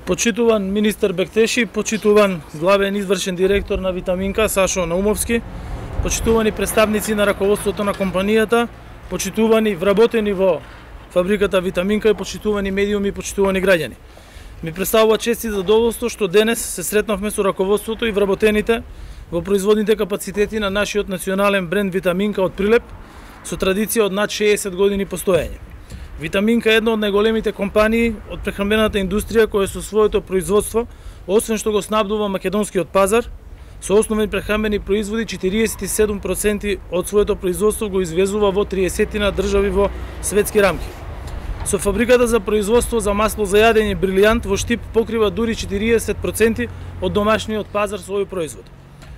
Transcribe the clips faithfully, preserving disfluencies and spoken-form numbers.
Почитуван министер Бектеши, почитуван главен извршен директор на Витаминка Сашо Наумовски, почитувани представници на раководството на компанијата, почитувани вработени во фабриката Витаминка и почитувани медиуми и почитувани граѓани. Ми представува чест и задоволство што денес се сретнавме со раководството и вработените во производните капацитети на нашиот национален бренд Витаминка од Прилеп со традиција од над шеесет години постоење. Витаминка е една од најголемите компании од прехранбената индустрија која со своето производство, освен што го снабдува македонскиот пазар, со основни прехранбени производи четириесет и седум проценти од своето производство го извезува во триесет држави во светски рамки. Со фабриката за производство за масло за јадење Брилијант во Штип покрива дури четириесет проценти од домашниот пазар со овој производ.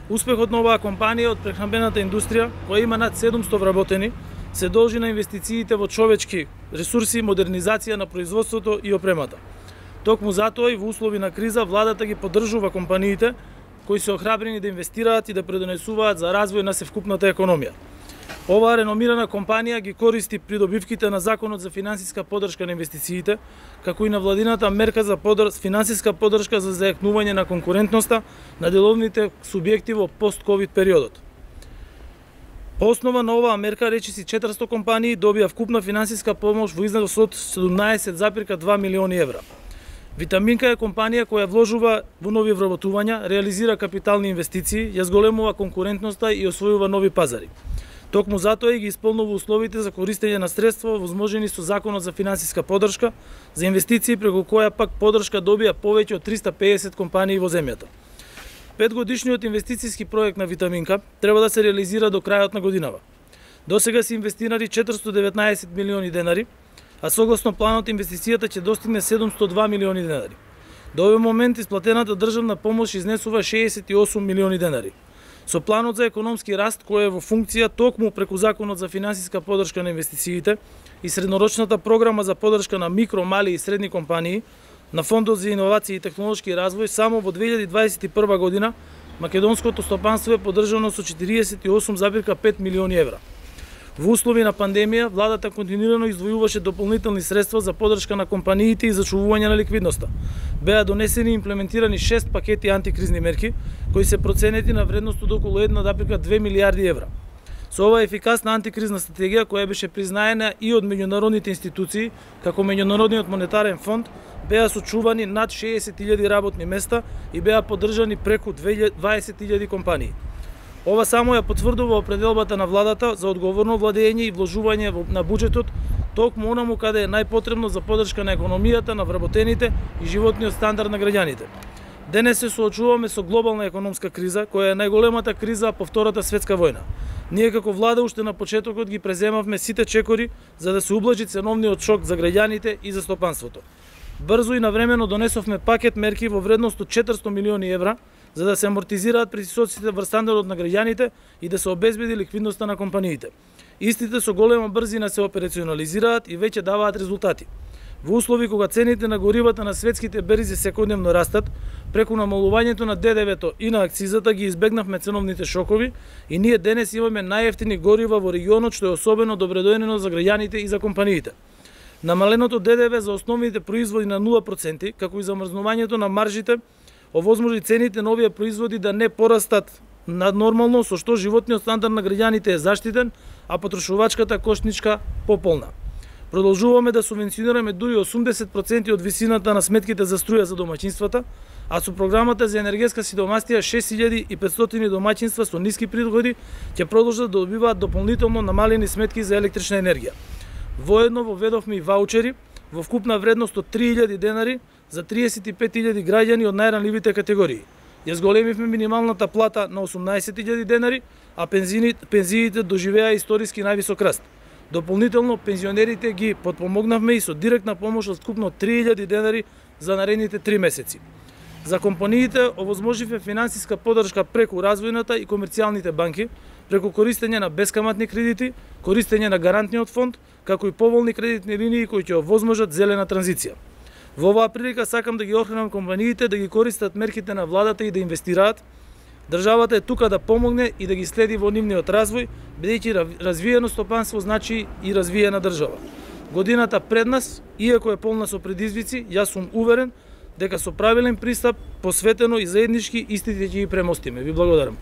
Успехот на оваа компанија од прехранбената индустрија, која има над седумсто вработени, се должи на инвестициите во човечки ресурси, модернизација на производството и опремата. Токму затоа и во услови на криза владата ги поддржува компаниите кои се охрабрени да инвестираат и да предонесуваат за развој на севкупната економија. Оваа реномирана компанија ги користи придобивките на Законот за финансиска поддршка на инвестициите, како и на владината мерка за подар... финансиска поддршка за зајакнување на конкурентноста на деловните субјекти во пост-ковид периодот. По основа на оваа мерка, речиси четиристо компании добија вкупна финансиска помош во износ од седумнаесет зарез два милиони евра. Витаминка е компанија која вложува во нови вработувања, реализира капитални инвестиции, ја зголемува конкурентноста и освојува нови пазари. Токму затоа и ги исполнува условите за користење на средства возможени со Законот за финансиска поддршка за инвестиции, преку која пак поддршка добија повеќе од триста пеесет компании во земјата. Петгодишниот инвестициски проект на Витаминка треба да се реализира до крајот на годинава. Досега се инвестирани четиристо деветнаесет милиони денари, а согласно планот инвестицијата ќе достигне седумсто и два милиони денари. До овој момент исплатената државна помош изнесува шеесет и осум милиони денари. Со планот за економски раст кој е во функција токму преку Законот за финансиска поддршка на инвестициите и среднорочната програма за поддршка на микро, мали и средни компании, на Фондот за иновации и технолошки развој, само во две илјади дваесет и прва година македонското стопанство е поддржано со четириесет и осум зарез пет милиони евра. Во услови на пандемија, владата континуирано издвојуваше дополнителни средства за поддршка на компаниите и зачувување на ликвидноста. Беа донесени и имплементирани шест пакети антикризни мерки, кои се проценети на вредност од околу една зарез две милијарди евра. Со оваа ефикасна антикризна стратегија, која беше признаена и од меѓународните институции, како Меѓународниот монетарен фонд, беа сочувани над шеесет илјади работни места и беа поддржани преку дваесет илјади компании. Ова само ја потврдува определбата на владата за одговорно владење и вложување на буџетот, токму онаму каде е најпотребно за поддршка на економијата, на вработените и животниот стандард на граѓаните. Денес се соочуваме со глобална економска криза, која е најголемата криза по Втората светска војна. Ние како влада уште на почетокот ги преземавме сите чекори за да се ублажи ценовниот шок за граѓаните и за стопанството. Брзо и навремено донесовме пакет мерки во вредност од четиристо милиони евра за да се амортизираат притисоците врз стандардот на граѓаните и да се обезбеди ликвидноста на компаниите. Истите со голема брзина се операционализираат и веќе даваат резултати. Во услови кога цените на горивата на светските берзи секојдневно растат, преку намалувањето на Д Д В-то и на акцизата ги избегнавме ценовните шокови и ние денес имаме најевтини горива во регионот, што е особено добредојнено за граѓаните и за компаниите. Намаленото Д Д В за основните производи на нула проценти, како и замрзнувањето на маржите, овозможи цените на овие производи да не порастат наднормално, со што животниот стандард на граѓаните е заштитен, а потрошувачката кошничка пополна. Продолжуваме да субвенционираме дури осумдесет проценти од висината на сметките за струја за домаќинствата, а со програмата за енергетска сиромаштија шест илјади и петстотини домаќинства со ниски приходи ќе продолжат да добиваат дополнително намалени сметки за електрична енергија. Воедно воведовме и ваучери во вкупна вредност од три илјади денари за триесет и пет илјади граѓани од најранливите категории. Ја зголемивме минималната плата на осумнаесет илјади денари, а пензиите, пензиите доживеа историски највисок раст. Дополнително пензионерите ги подпомогнавме и со директна помош од вкупно три илјади денари за наредните три месеци. За компаниите овозможивме финансиска поддршка преку развојната и комерцијалните банки, преку користење на бескаматни кредити, користење на гарантниот фонд, како и поволни кредитни линии кои ќе овозможат зелена транзиција. Во оваа прилика сакам да ги охранам компаниите да ги користат мерките на владата и да инвестираат. Државата е тука да помогне и да ги следи во нивниот развој, бидејќи развиено стопанство значи и развиена држава. Годината пред нас, иако е полна со предизвици, јас сум уверен дека со правилен пристап, посветено и заеднички, истите ќе ги премостиме. Ви благодарам.